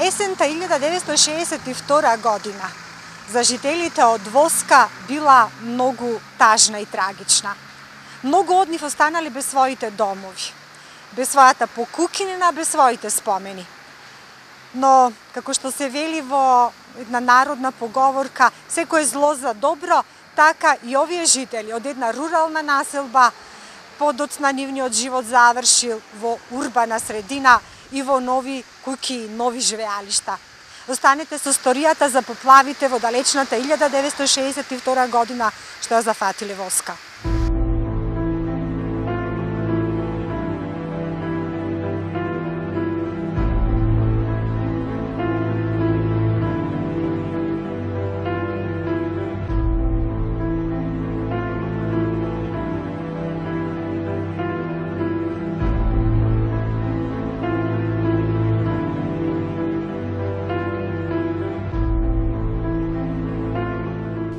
Есента 1962 година за жителите од Воска била многу тажна и трагична. Многу од нив останали без своите домови, без својата покукинина, без своите спомени. Но, како што се вели во една народна поговорка, секое зло за добро, така и овие жители од една рурална населба подоцна нивниот живот завршил во урбана средина и во нови куќи, нови живеалишта. Останете со историјата за поплавите во далечната 1962 година што ја зафатиле Воска.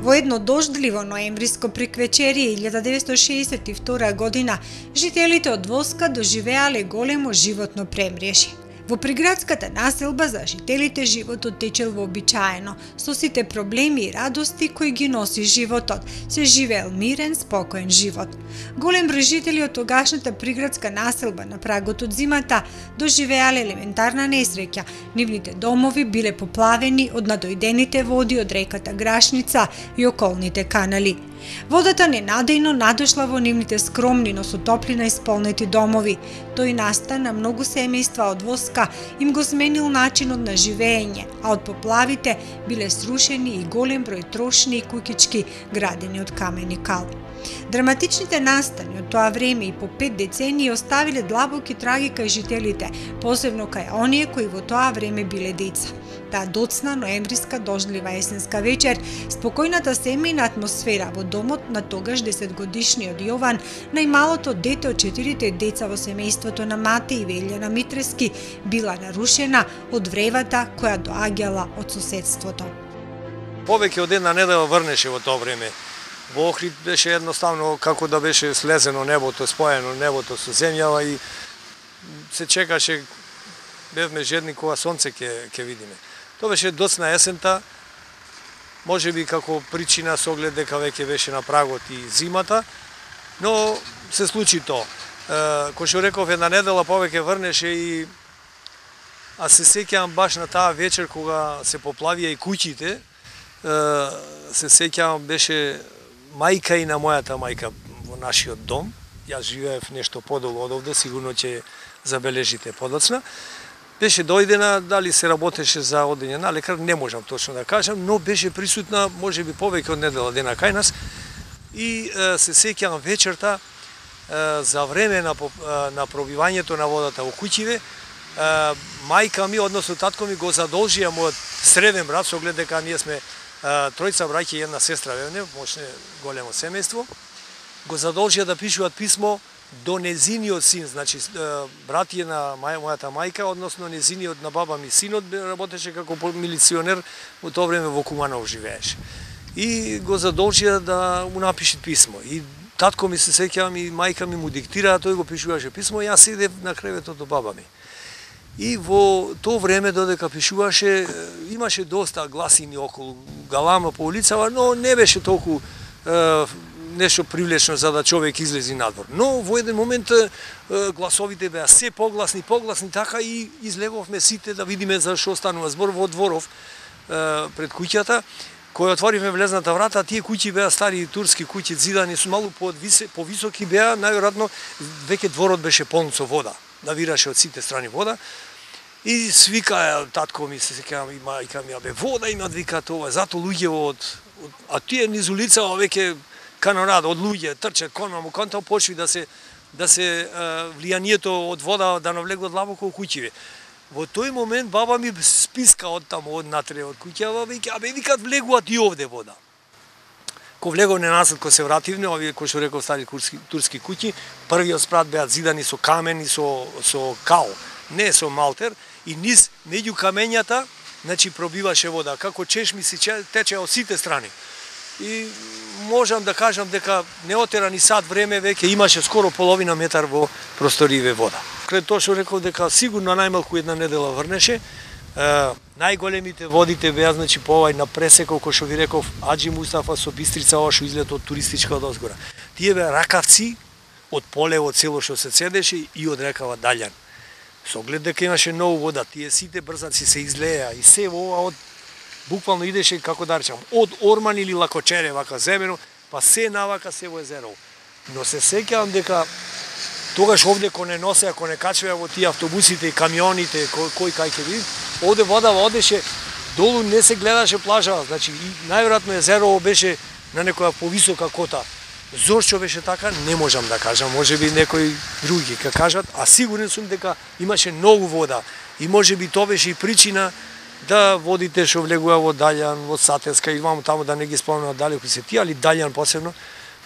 Во едно дождливо ноемвриско приквечерие 1962 година, жителите од Воска доживеале големо животно премрежје. Во приградската населба за жителите животот течел вообичаено, со сите проблеми и радости кои ги носи животот. Се живеел мирен, спокоен живот. Голем број жители од тогашната приградска населба на прагот од зимата доживеале елементарна несреќа. Нивните домови биле поплавени од надојдените води од реката Грашница и околните канали. Водата ненадејно надошла во нивните скромни, но со топлина исполнети домови. Тој наста на многу семејства од Воска им го сменил начинот на живење, а од поплавите биле срушени и голем број трошни и куќички градени од камен и кал. Драматичните настани од тоа време и по 5 децении оставиле длабоки траги кај жителите, посебно кај оние кои во тоа време биле деца. Таа доцна ноемвриска дождлива есенска вечер, спокојната семејна атмосфера во домот на тогаш 10-годишниот Јован, најмалото дете од 4 деца во семејството на мати и Велјана Митрески, била нарушена од вревата која доаѓала од соседството. Повеќе од една недела врнеше во тоа време. Во Охрид беше едноставно како да беше слезено небото, споено небото со земјава и се чекаше, бевме жедни кога сонце ќе видиме. Тоа беше доцна есента, може би како причина со оглед дека веќе беше на прагот и зимата, но се случи тоа. Кој што реков, една недела повеќе врнеше и а се сеќавам баш на таа вечер кога се поплавија и куќите, се сеќавам беше мајка и на мојата мајка во нашиот дом. Јас живеев нешто подолу од овде, сигурно ќе забележите подоцна. Беше дојдена, дали се работеше за одење на лекар, не можам точно да кажам, но беше присутна, може би повеќе од недела дена кај нас. И се сеќавам вечерта, за време на пробивањето на водата во куќиве, мајка ми, односно татко ми го задолжија мојот среден брат, со оглед дека ние сме тројца браќа и една сестра, мощне големо семејство, го задолжија да пишуваат писмо до незиниот син, значи брат е на мојата мајка, односно незиниот на баба ми синот работеше како милиционер, во тоа време во Куманово живееше. И го задолжија да му напише писмо. И татко ми се сеќавам и мајка ми му диктира, тој го пишуваше писмо, јас седев на креветот до баба ми. И во тоа време додека пишуваше, имаше доста гласини околу, галама по улицава, но не беше толку нешто привлечно за да човек излези надвор. Но во еден момент гласовите беа се погласни, така и излеговме сите да видиме за што станува збор во дворов пред куќата. Кој отворивме влезната врата, тие куќи беа стари турски куќи, зидани со малку повисоки беа, најверојатно веќе дворот беше полн со вода, навираше од сите страни вода. И свика татко ми, се сеќавам, и мајка ми, абе вода имат, вика тоа, зато луѓе а тие низ улицава веќе канонада од луѓе трчат конто почви да се влијанието од вода да навлегува длабоко во куќиве. Во тој момент баба ми списка од таму од натре од куќава, абе викат влегуваат и овде вода. Ко влеговме назад, ко се вративме, овие кои што реков стари турски куќи, првиот спрат беа зидани со камен и со кал, не со малтер, и низ меѓу камењата, значи пробиваше вода, како чешми се тече од сите страни. И можам да кажам дека неотера ни сат време веќе имаше скоро половина метар во просториве вода. Пред тоа што реков дека сигурно најмалку една недела врнеше, Најголемите водите беа значи по овај на пресекот кој што ви реков Аџи Мустафа со Бистрица, ова што излет од туристичка од озгора. Тие беа ракавци од полево цело што се цедеше и од рекава Даљан. Со оглед дека имаше многу вода, тие сите брзаци се излеа и се ова од буквално идеше како да речам од Орман или Лакочере вака земено, па се навака се во езерово. Но се сеќавам дека тогаш овде кој не носеа, кој не качвеа во тие автобусите и камионите, кој кај ќе види, овде водава одеше долу, не се гледаше плажава, значи и најверојатно езерово беше на некоја повисока кота. Зошто беше така, не можам да кажам, можеби некои други ќе кажат, а сигурен сум дека имаше многу вода и можеби тоа беше и причина да водите што влегува во Даљан, во Сатеска и таму да не ги спомнам далеку се тие, али Даљан посебно,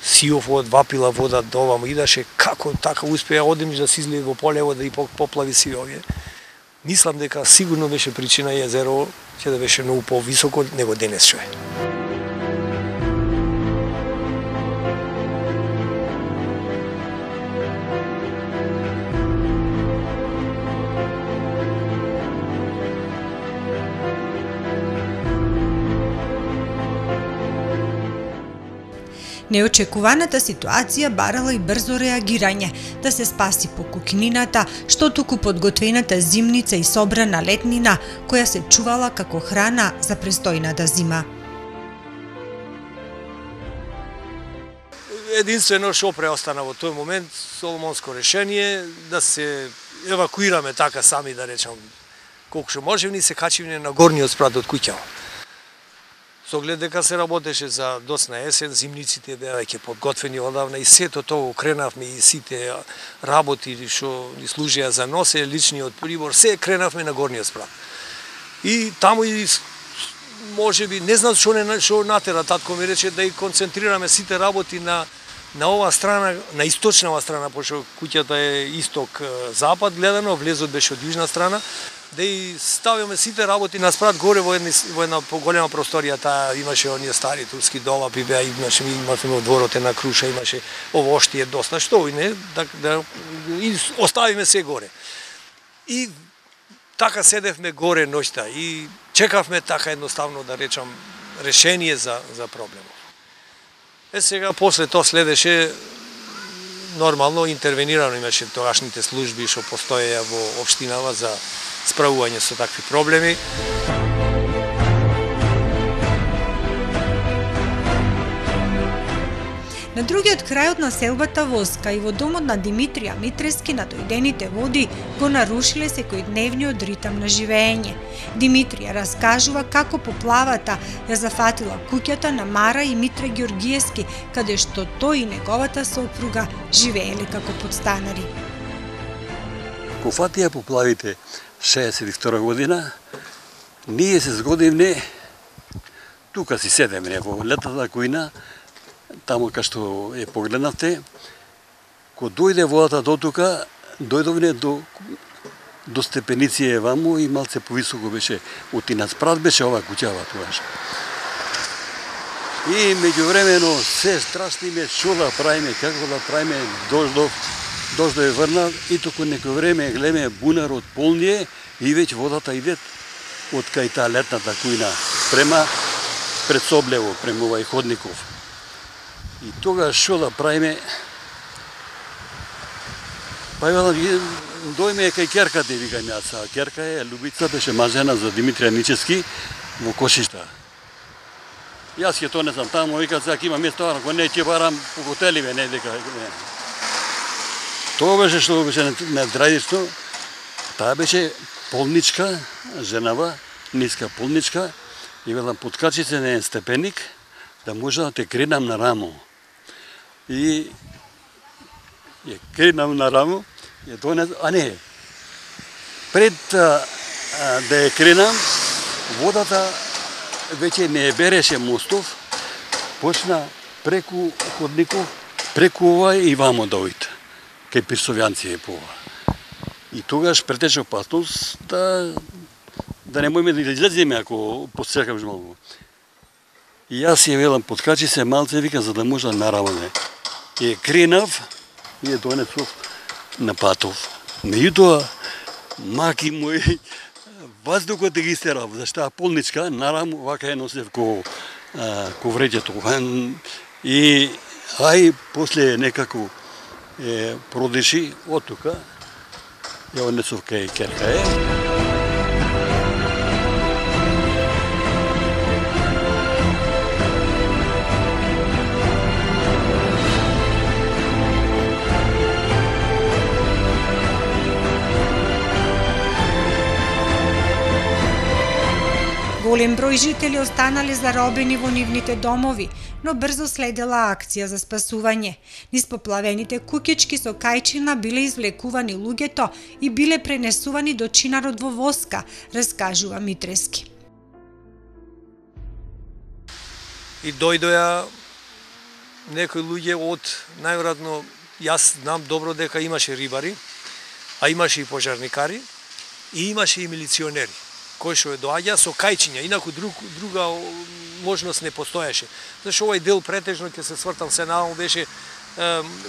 сиов од вапила вода до оваму идаше, како така успеа одемиш да се излезе во полево да и поплави сиовие. Мислам дека сигурно беше причина и езерово ќе да беше многу повисоко него денес што е. Неочекуваната ситуација барала и брзо реагирање, да се спаси покукнината, што туку подготвената зимница и собрана летнина, која се чувала како храна за престојната зима. Единствено што преостана во тој момент, соломонско решение, да се евакуираме така сами, да речам, колку што можеме, ни се качивме на горниот спрат од куќава. Со оглед дека се работеше за доцна есен, зимниците беа веќе подготвени одавна и сето тоа кренавме и сите работи што ни служија за носе, личниот прибор, се кренавме на горниот спрат. И таму и можеби, не знам што натера, татко ми рече да и концентрираме сите работи на оваа страна, на источнава страна, пошто куќата е исток-запад гледано, влезот беше од јужна страна, да и ставиме сите работи на спрат горе во една поголема просторија, таа имаше оние стари турски долапи, беа имаше во дворот една круша, имаше овоштие доста, што и не, да и оставиме се горе. И така седевме горе ноќта и чекавме така едноставно да речам решение за проблемот. Сега после тоа следеше нормално интервенирано, имаше тогашните служби што постоеја во општинава за справување со такви проблеми. На другиот крај од населбата Воска и во домот на Димитрија Митрески надојдените води го нарушиле секојдневниот ритам на живење. Димитрија раскажува како поплавата ја зафатила куќата на Мара и Митре Ѓоргиевски, каде што тој и неговата сопруга живееле како подстанари. Ко фатија поплавите 62 година, ние се згодивме, тука си седеме во летата кујна, таму кај што е погледнавте, ко дојде водата до тука, дојдовне до степеници ваму и малце повисоко беше, отина спрат беше ова куќава тогаш. И меѓувремено се страшниме што да правиме, како да правиме, дождов е врнал и току некој време гледаме бунарот полние и веќе водата иде од кај таа летната кујна према пред Соблево, према овај ходников. И тога што да правиме? Па дојме кај керката, викам јас, а керка е Любица, беше мажена за Димитрија Ничевски во Кошишта. Јас ќе тонесам таму, вика сега има место, ако не ќе барам по хотеливе, не дека не. Тоа беше што беше на Драјдишто, таа беше полничка, женава, ниска полничка, и велам подкачи се на еден степеник, да може да те кренам на рамо. И ја кренам на рамо, ја донес, а не, пред да ја кренам, водата веќе не береше мостов, почна преку ходников, преку овај и вамо да ојде, кај Пирсовјанци е по ова. И тогаш претече опасност да не можеме да излеземе ако посекаш малку. И јас ја велам, подкачи се малце, вика, за да може да нараваме. И кренав и ја донесов на патов. Меѓутоа, маки мои, Ваздухот ги истерав, зашто полничка, нарам, вака ја носев ко вреќето. И ај после некако продеши од тука, ја однесов кај Керкај. Голем број жители останале заробени во нивните домови, но брзо следела акција за спасување. Низ поплавените куќички со кајчина биле извлекувани луѓето и биле пренесувани до чинарот во Воска, раскажува Митрески. И дојдоа некои луѓе од, најверојатно, јас знам добро дека имаше рибари, а имаше и пожарникари, и имаше и милиционери кој што доаѓа со кајчиња, инаку друга можност не постоеше. Зашто овој дел претежно ќе се свртам се наому беше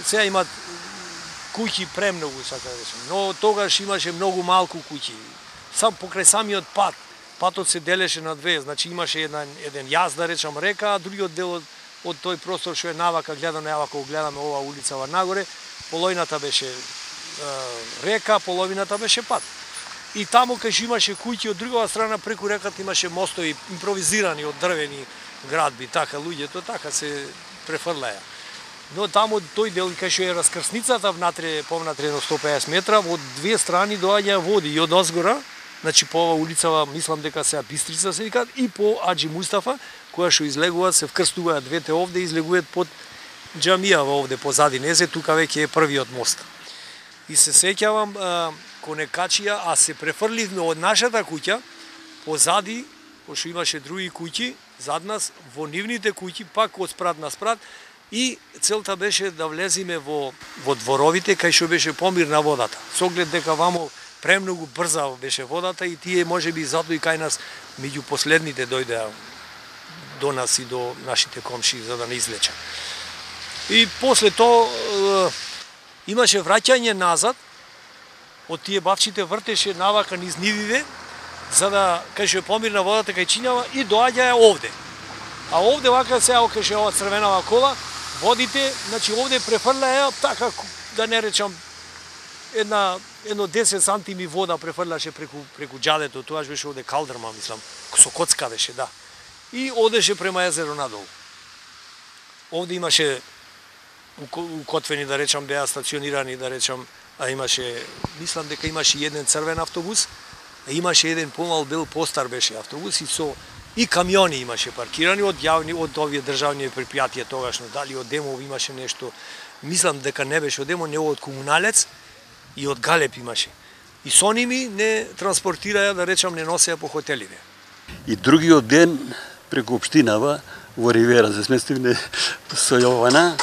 сега имат куќи премногу, сака да речем, но тогаш имаше многу малку куќи. Сам покрај самиот пат, патот се делеше на две, значи имаше еден јаз да речам река, а другиот дел од тој простор што е навака гледано, кога гледаме ова улицава нагоре, половината беше река, половината беше пат. И таму кај имаше куќи од другава страна преку реката имаше мостови импровизирани од дрвени градби, така луѓето така се префрлаја. Но таму тој дел кај што е раскрсницата внатре повнатре 150 метра, од две страни доаѓа води и од озгора, значи по ова улицава мислам дека сега Бистрица се викаат и по Аџи Мустафа, која што излегуваат се вкрстуваат двете овде и излегуваат под џамијава овде позади незе, тука веќе е првиот мост. И се сеќавам коне качија, а се префрливме од нашата куќа позади, пошто имаше други куќи зад нас, во нивните куќи, пак од спрат на спрат, и целта беше да влезиме во дворовите кај што беше помирна водата. Со оглед дека вамо премногу брза беше водата и тие можеби затоа и кај нас меѓу последните дојдеа до нас и до нашите комши за да не излеча. И после тоа имаше враќање назад, од тие бавчите вртеше навака низ нививе, за да, кај што е помирна водата, кај чинјава, и доаѓаја овде. А овде, вака сега, кај што е ова црвенава кола, водите, значи овде префрлаја, така, да не речам, едно 10 сантими вода префрлаше преку џадето, тоа беше овде калдрма, мислам, со коцка беше, да. И одеше према езеро надолу. Овде имаше укотвени, да речам, беа стационирани, да речам, а имаше, мислам дека имаше еден црвен автобус, а имаше еден помал бел постар беше автобус и камиони имаше паркирани од јавни, од овие државни предпријатија тогашно, дали од Демов имаше нешто, мислам дека не беше од Демов, не од Комуналец и од Галеп имаше. И со ними не транспортираја, да речам, не носеја по хотеливе. И другиот ден преку општинава во Ривера се сместивне со Јована,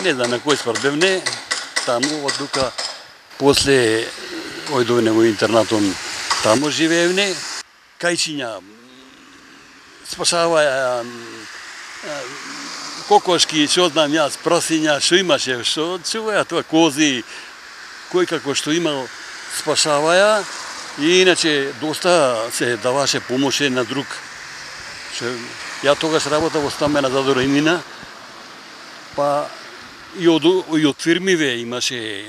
не знам на кој спардевне, таму од тука после ојдовне во интернатон таму живеевне, кајчиња спасаваја кокошки, што знам јас, прасиња, што имаше, што чуваја тоа кози, кој како што имал спасаваја и иначе доста се даваше помош на друг. Ја тогаш работа во стамбена задоремина, па и од фирмиве имаше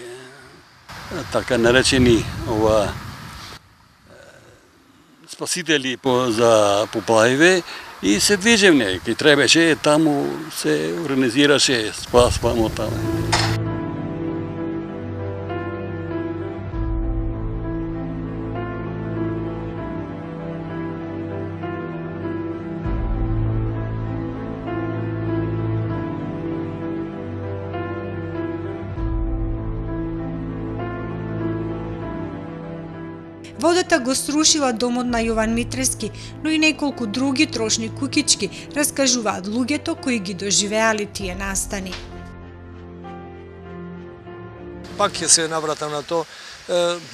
така наречени спасители за поплавиве и се движевне, ки требеше таму се организираше спас вамо таму. Водата го срушила домот на Јован Митрески, но и неколку други трошни куќички, раскажуваат луѓето кои ги доживеали тие настани. Пак ќе се навратам на тоа,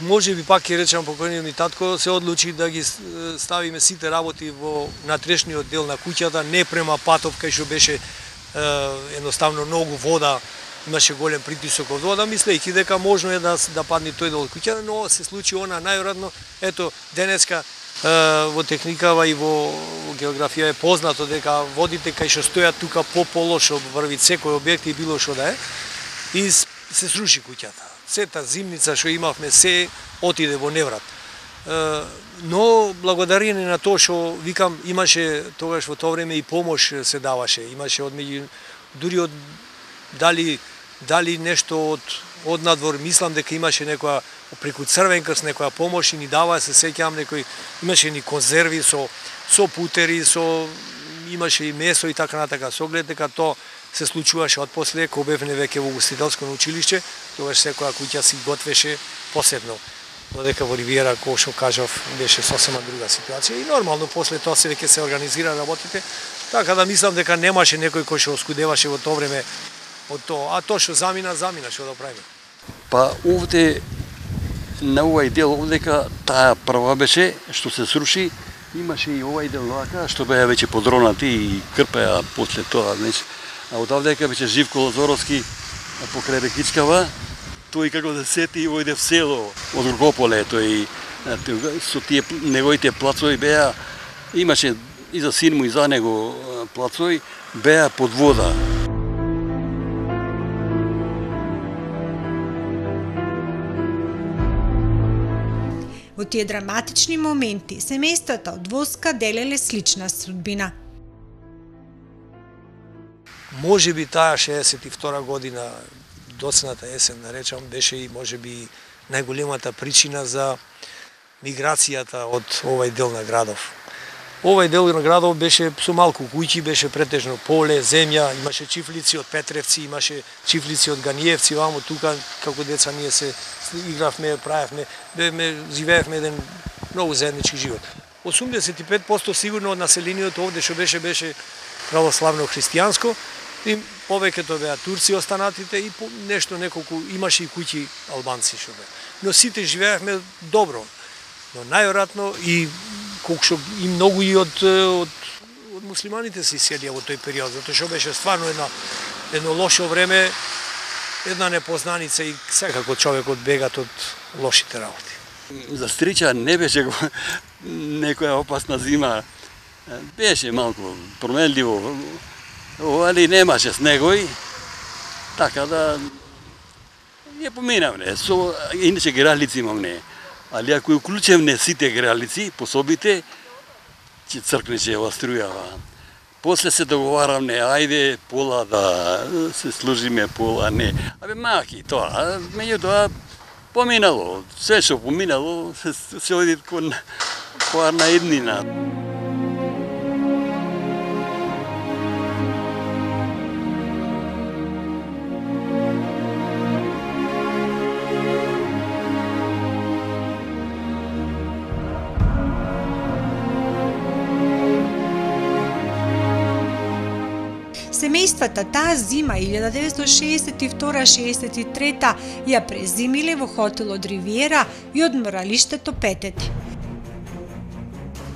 може би пак ќе речам покојниот ми татко се одлучи да ги ставиме сите работи во натрешниот дел на куќата, не према патов кај што беше едноставно многу вода имаше голем притисок од вода, мислејќи дека можно е да падне тој дел од куќата, но се случи она најверојатно. Ето, денеска во техникава и во географија е познато дека водите кај што стојат тука по полошо врви секој објект и било што да е, и се сруши куќата. Сета зимница што имавме се отиде во неврат. Но благодарение на тоа што викам имаше тогаш во тоа време и помош се даваше, имаше дури од дали нешто од надвор, мислам дека имаше некоја преку Црвен крст некоја помош и ни даваа, се сеќавам, имаше ни конзерви со путери, имаше и месо и така натака. Со оглед дека тоа се случуваше од после, кога бевме веќе во ugostителско училиште, тогаш секоја куќа си готвеше посебно. Додека во Ривиера, кој што кажав, беше сосема друга ситуација и нормално после тоа се веќе се организира работите, така да мислам дека немаше некој кој што оскудеваше во тоа време од тоа, а тоа што замина, што да правиме. Па овде на овај дел овдека таа прва беше што се сруши, имаше и овај дел вака што беа веќе подронати и крпеа после тоа, а одавдека беше Живко Лазоровски покрај Рекичкава. Тој како да сети и ојде в село од Горкополе, тој со тие неговите плацови беа, имаше и за син му и за него плацови, беа под вода. Во тие драматични моменти, семејствата од Воска делеле слична судбина. Може би таа 62 година, доцната есен, да речам, беше и можеби најголемата причина за миграцијата од овај дел на градов. Овај дел на градов беше со малку куќи, беше претежно поле, земја, имаше чифлици од Петревци, имаше чифлици од Ганиевци, вамо тука, како деца ние се игравме, правевме, живеевме еден многу заеднички живот. 85% сигурно од населението овде што беше православно христијанско, и повеќето беа турци останатите и нешто неколку имаше и куќи албанци што беа. Но сите живеевме добро. Но најверојатно и колку што и многу и од муслиманите се иселија во тој период, затоа што беше стварно едно лошо време, една непознаница и секако човекот бегат од лошите работи. За Стрича не беше некоја опасна зима. Беше малку променливо, али немаше снегој, така да ја поминавме. Иначе гралици имамне, али ако уклучевме сите гралици, пособите, ќе цркнеше ова струјава. После се договаравме, ајде пола да се служиме, пола не. Абе маки тоа, меѓутоа поминало, се што поминало, се оди кон парна еднина. Семејствата таа зима 1962-63 ја презимиле во хотелот Ривиера и одморалиштето Петети.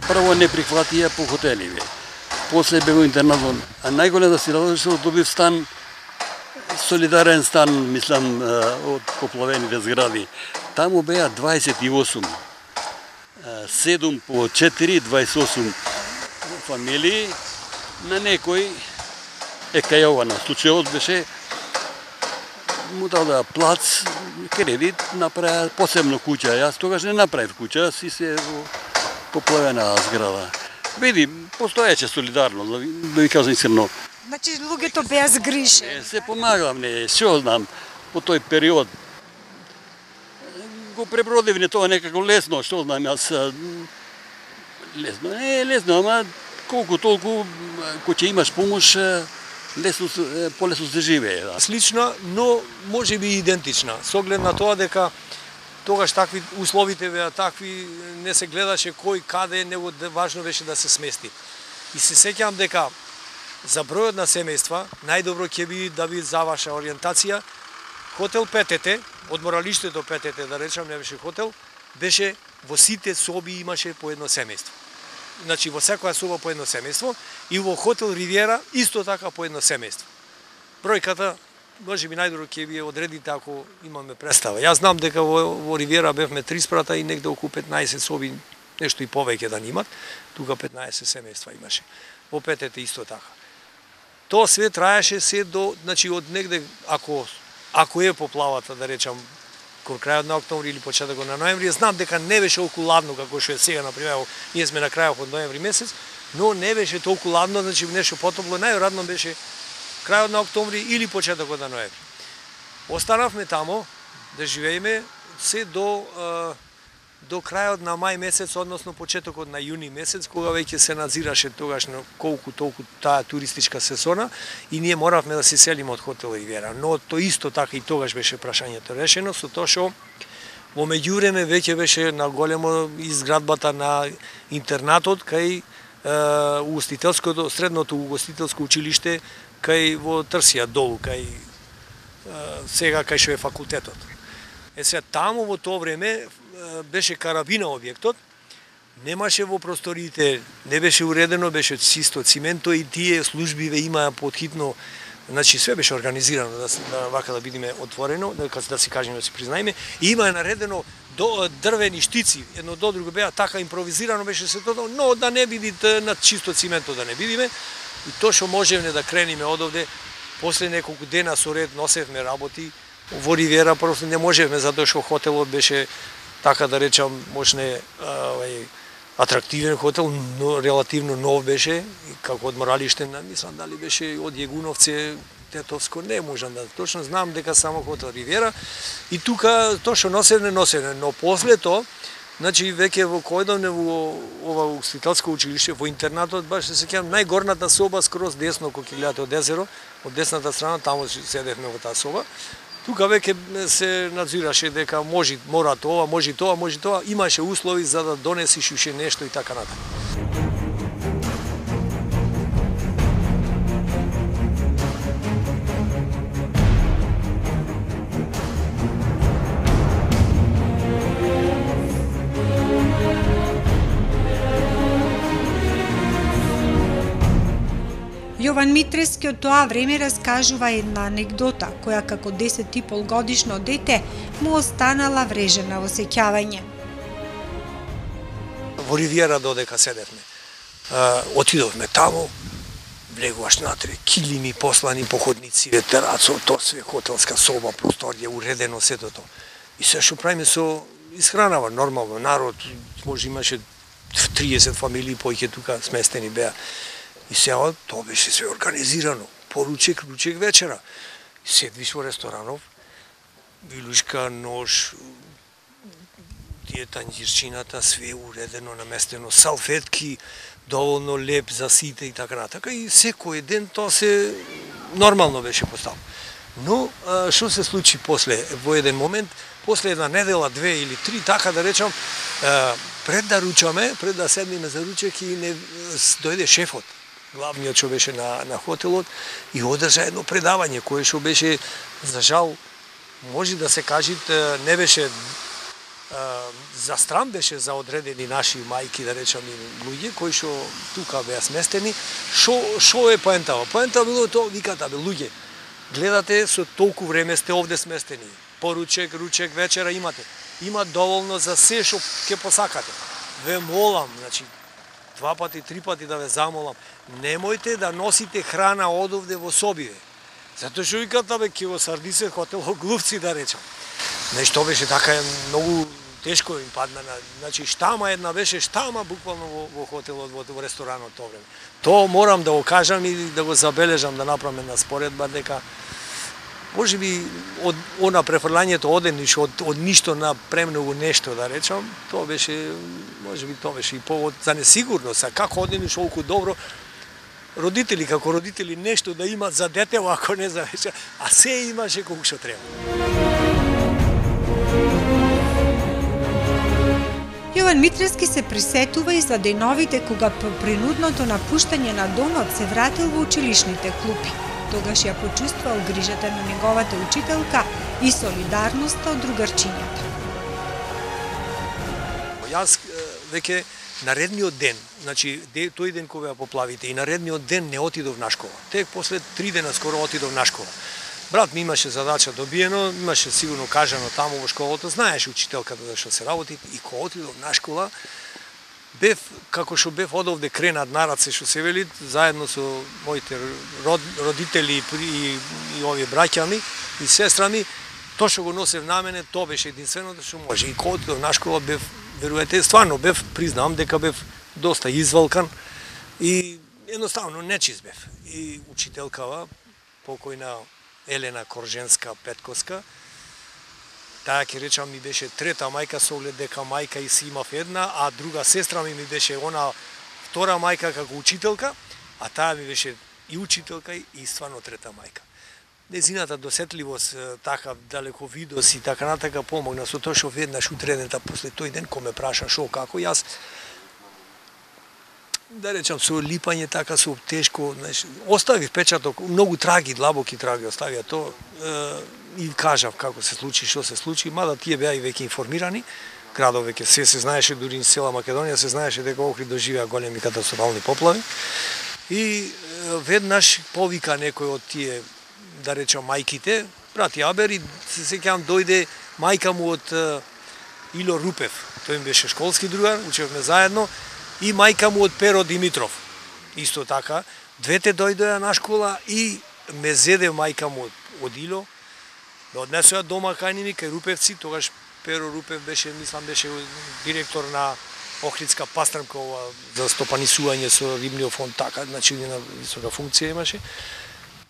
Прво не прихватија по хотеливе, после бе во интернатот, а најголем да си радој што добив стан, солидарен стан, мислам, од поплавените згради. Таму беа 28, 7 по 4, 28 фамилии, на некој кај ова на случајот беше му дадоа плац, кредит, направи посебно куќа. Јас тогаш не направив куќа, си се во поплавена зграда. Види, постоеше солидарно, да ви кажам искрено. Значи луѓето беа згрижени. Се помагавме, што знам, по тој период. Го пребродивме тоа некако лесно, што знам јас. Лесно, лесно, ама колку толку, кој ќе имаш помош, полесно се живее. Да. Слична, но може би идентична. Со оглед на тоа дека тогаш такви условите беа такви, не се гледаше кој каде, него важно беше да се смести. И се сеќавам дека за бројот на семејства најдобро ќе би да ви за ваша ориентација хотел Петете, одморалиштето Петете, да речам, не беше хотел, беше во сите соби имаше по едно семејство. Значи во секоја соба по едно семејство и во хотел Ривиера исто така по едно семејство. Бројката можеби најдобро ќе ви одредите ако имаме представа. Јас знам дека во Ривиера бевме 3 спрата и негде околу 15 соби, нешто и повеќе да немат. Тука 15 семејства имаше. Во Петете исто така. Тоа све траеше се до, значи од негде ако е поплавата, да речам, кон крајот на октомври или почетокот на ноември, знам дека не беше толку ладно како што е сега, например, ние сме на крајот од ноември месец, но не беше толку ладно, значи нешто потопло, најрадно беше крајот на октомври или почетокот на ноември. Останавме тамо да живееме се до крајот на мај месец, односно почетокот на јуни месец, кога веќе се надзираше тогаш на колку толку таа туристичка сезона и ние моравме да се селиме од хотел Ривиера. Но то исто така и тогаш беше прашањето решено, со тоа што во меѓувреме веќе беше на големо изградбата на интернатот кај средното угостителско училиште кај во Трсија долу, кај сега кај што е факултетот. Сега таму во тоа време беше карабина објектот, немаше во просториите, не беше уредено, беше чисто цименто и тие служби имаа подхитно, значи све беше организирано вака да бидеме отворено, да си кажеме, да си признаеме, и има наредено до дрвени штици, едно до друго беа така импровизирано беше се тоа, но да не бидите на чисто цименто да не бидиме. И тоа што можевме да крениме одовде, после неколку дена со ред носевме работи во Ривиера, просто не можевме затоа што хотелот беше така да речам, можне атрактивен хотел, но релативно нов беше, и како одморалиште, мислам дали беше од Јегуновце, Тетовско, не можам да точно знам дека само хотел Ривиера. И тука тоа што носевне, но после тоа, значи веќе во којдовне во ова угостителско училиште, во интернатот, баш се сеќавам, најгорната соба скроз десно кога ќе гледате од езеро, од десната страна, таму седевме во таа соба. Тука веќе се надзираше дека мора тоа, може тоа, имаше услови за да донесиш уште нешто и така натаму. Јован Митрески од тоа време раскажува една анегдота, која како 10,5 годишно дете му останала врежена во сеќавање. Во Ривиера додека седевме, отидовме таму, влегуваш натре, килими послани по ходниците, терацо, тоа све хотелска соба, просторија, уредено сето тоа. И се што правиме со исхранава, нормално, народ, може имаше 30 фамилии, поиќе тука сместени беа. И сега тоа беше све организирано, поручек, ручек, вечера. Седвиш во ресторанов, вилушка, нож, тие танџирчината, све уредено, наместено, салфетки, доволно леп за сите и така натака. И секој ден тоа се нормално беше поставено. Но, што се случи после, во еден момент, после една недела, 2 или 3, така да речам, пред да ручаме, пред да седнеме за ручек и дојде шефот, главниот што беше на хотелот, и одржа едно предавање кое што беше, за жал, може да се каже, не беше за стран, беше за одредени наши мајки, да речам, и луѓе кои што тука беа сместени. Шо е поентава? Поентава било тоа, виката, бе, луѓе, гледате, со толку време сте овде сместени. Поручек, ручек, вечера имате. Има доволно за се што ќе посакате. Ве молам, значи, 2 пати, 3 пати да ве замолам, немојте да носите храна одовде во собиве. Затоа што виката, бе, ќе во Сардисе хотел глувци, да речам. Нешто беше така многу тешко им падна. Значи, штама една беше, штама буквално во хотелот, во ресторанот тоа време. Тоа морам да го кажам и да го забележам, да направам една споредба, дека може би од она префрлањето одениш од ништо на премногу нешто, да речам, тоа беше, може би тоа беше и повод за несигурност, а како одениш толку добро, родители како родители нешто да имат за детево, ако не за вечер, а се имаше колку што треба. Јован Митрески се присетува и за деновите кога по принудното напуштање на домот се вратил во училишните клупи. Тогаш ја почувствувал грижата на неговата учителка и солидарноста од другарчињата. Јас веќе наредниот ден, значи тој ден кога ја поплавите и наредниот ден не отидов на школа. Тек после 3 дена скоро отидов на школа. Брат ми имаше задача добиено, имаше сигурно кажано таму во школата, знаеше учителката да што се работи и кога отидов на школа, бев, како што бев одовде кренат на раце, што се вели, заедно со моите родители и овие браќа ми и сестра ми, тоа што го носев на мене, тоа беше единственото што може. И кога отидов на школа бев, верувате, стварно бев, признавам дека бев доста извалкан и едноставно нечист бев. И учителкава, покојна Елена Корженска-Петковска, таа ќе речам ми беше трета мајка со оглед дека мајка и си имав една, а друга сестра ми беше она втора мајка како учителка, а таа ми беше и учителка и стварно трета мајка. Незината досетливост, така далековидост и така натака помогна со тоа што веднаш утредента после тој ден кој ме праша шо како јас да речам со липање така со тешко, знаеш, остави впечаток, многу траги, длабоки траги оставија тоа и кажав како се случи, што се случи, мада тие беа и веќе информирани, градов веќе се знаеше, дури и цела Македонија се знаеше дека Охрид доживеа големи катастрофални поплави и веднаш повика некој од тие, да речам, мајките, брати Абер, и се сеќавам дојде мајка му од Ило Рупев, тој ми беше школски другар, учевме заедно, и мајка му од Перо Димитров. Исто така, двете дојдоа на школа и ме зеде мајка му од Ило, ме однесоа дома кај ними, кај Рупевци, тогаш Перо Рупев беше, мислам, беше директор на Охридска пастрмка за стопанисување со рибниот фонд, така, значи на висока функција имаше.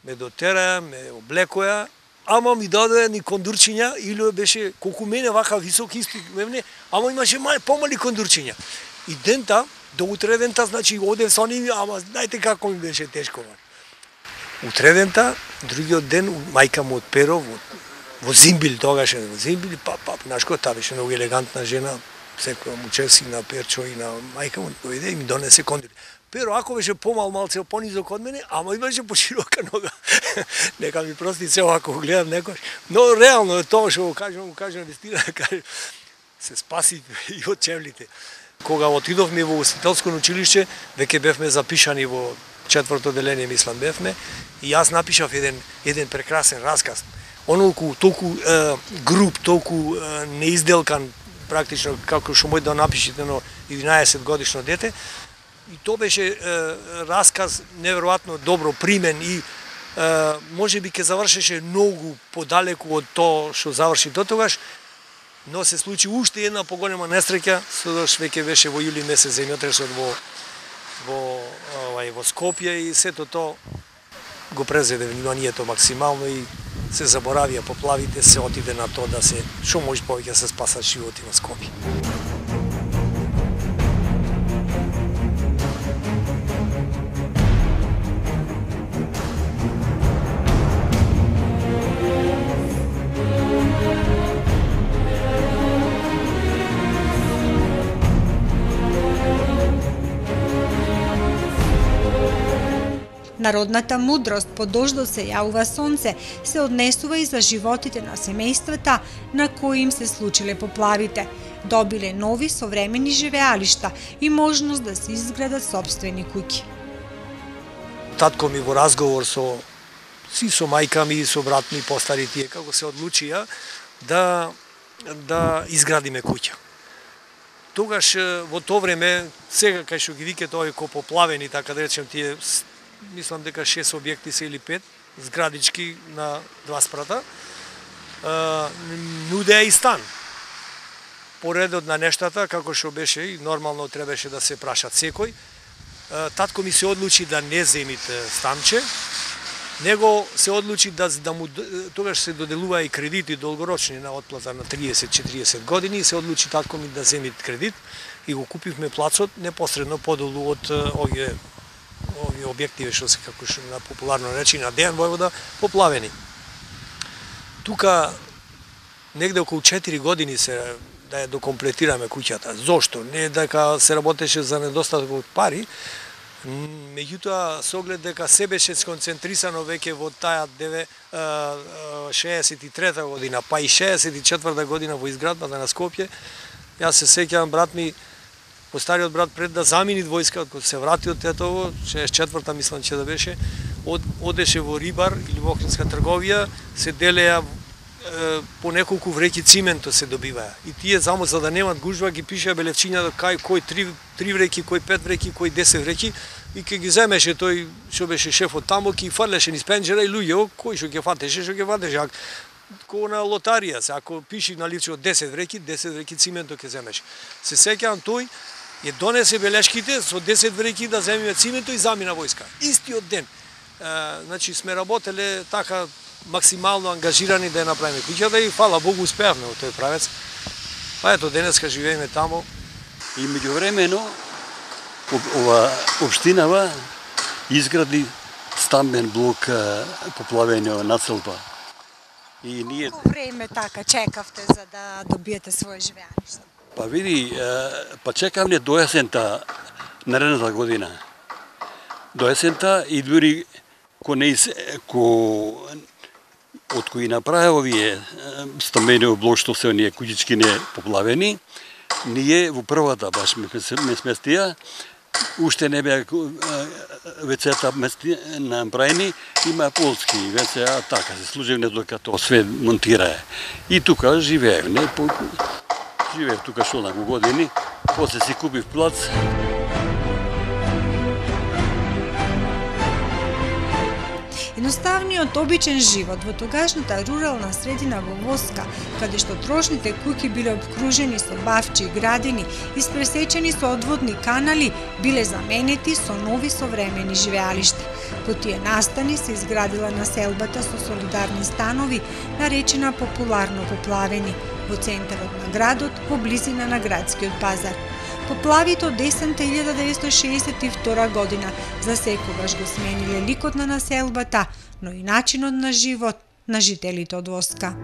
Ме дотераа, ме облекоја, ама ми дадоа ни кондурчиња, Ило беше колку мене вака висок исто мене, ама имаше помали кондурчиња. И дента, до утредента, значи одев со ними, ама знаете како ми беше тешко. Утредента, другиот ден, мајка му од Перо, во Зимбил, тогаш во Зимбил, знаеш кој, таа беше многу елегантна жена, секоја му чеси на Перчо и на мајка му, дојде и ми донесе кондур. Перо, ако беше малце понизок од мене, ама имаше поширока нога. Нека ми прости се ако го гледам некој. Но реално е тоа што го кажам вистина, се спаси и од чевлите. Кога отидовме во Устителско училиште, веќе бевме запишани во 4-то деление, мислам бевме, и јас напишав еден прекрасен расказ. Онолку толку груб, толку неизделкан, практично како што може да напишете на 11 годишно дете. И тоа беше расказ неверојатно добро примен и можеби ќе завршеше многу подалеку од тоа што заврши дотогаш, но се случи уште една поголема несреќа, содош веќе беше во јули месец земјотресот во Скопје и сето тоа го презеде вниманието максимално и се заборавија поплавите, се отиде на тоа да се што може повеќе се спасат животи во Скопје. Народната мудрост по дождот се јавува сонце се однесува и за животите на семејствата на кои им се случиле поплавите. Добиле нови современи живеалишта и можност да се изградат сопствени куќи. Татко ми во разговор со мајка ми и со брат ми постари тие како се одлучија да изградиме куќа. Тогаш во тоа време, сега кај што ги викате овие поплавени, така да речем тие, мислам дека 6 објекти се или 5, зградички на 2 спрата, нудеа и стан. Поредот на нештата, како што беше и нормално требаше да се прашат секој, татко ми се одлучи да не земите станче, него се одлучи да му, тогаш се доделува и кредити долгорочни на отплата на 30-40 години, и се одлучи татко ми да земи кредит и го купивме плацот непосредно подолу од овие објективе што се, како што на популарно речи, на Дејан Војвода, поплавени. Тука негде околу 4 години се да ја докомплетираме куќата. Зошто? Не дека се работеше за недостаток од пари, меѓутоа со оглед дека се беше сконцентрисано веќе во таа 63-та година, па и 64-та година во изградбата на Скопје. Јас се сеќавам, брат ми, постариот брат, пред да замени војска, кога се врати од Тетово, 64-та мислам че да беше, одеше во рибар или во охридска трговија, се делеа по неколку вреќи цименто се добиваа. И тие само за да немат гужва ги пишеа белевчиња кој 3 вреќи, кој 5 вреќи, кој 10 вреќи и ке ги земеше тој што беше шефот таму, ки фрлеше низ пенџера и луѓе кој што ќе фатеше, што ќе фатеше. Ко на лотарија, ако пиши на лице од 10 вреќи цименто ќе земеше. Се сеќавам тој ја донесе белешките со 10 вреќи да земеме цименто и замина војска. Истиот ден. Значи сме работеле така максимално ангажирани да ја направиме куќата и фала Богу успеавме во тој правец. Па ето денеска живееме таму. И меѓувремено ова општинава изгради стамбен блок поплавено населба. И ние Колку време така чекавте за да добиете свое живеаниште? Па види, па чекавме до есента наредната година. До есента и дури од кои направи овие стамбени блок што се оние куќички не поплавени, ние во првата баш ме сместија, уште не беа вецета направени, има полски веца, така се служевне дока тоа све монтирае. И тука живеевме, живеев тука што на години, после си купив плац. Едноставниот обичен живот во тогашната рурална средина во Воска, каде што трошните куќи биле обкружени со бавчи и градини, испресечени со одводни канали, биле заменети со нови современи живеалишта. По тие настани се изградила населбата со солидарни станови, наречена популарно Поплавени, во центарот на градот, во близина на градскиот пазар. Поплавите од есента 1962 година за секогаш го смениле ликот на населбата, но и начинот на живот на жителите од Воска.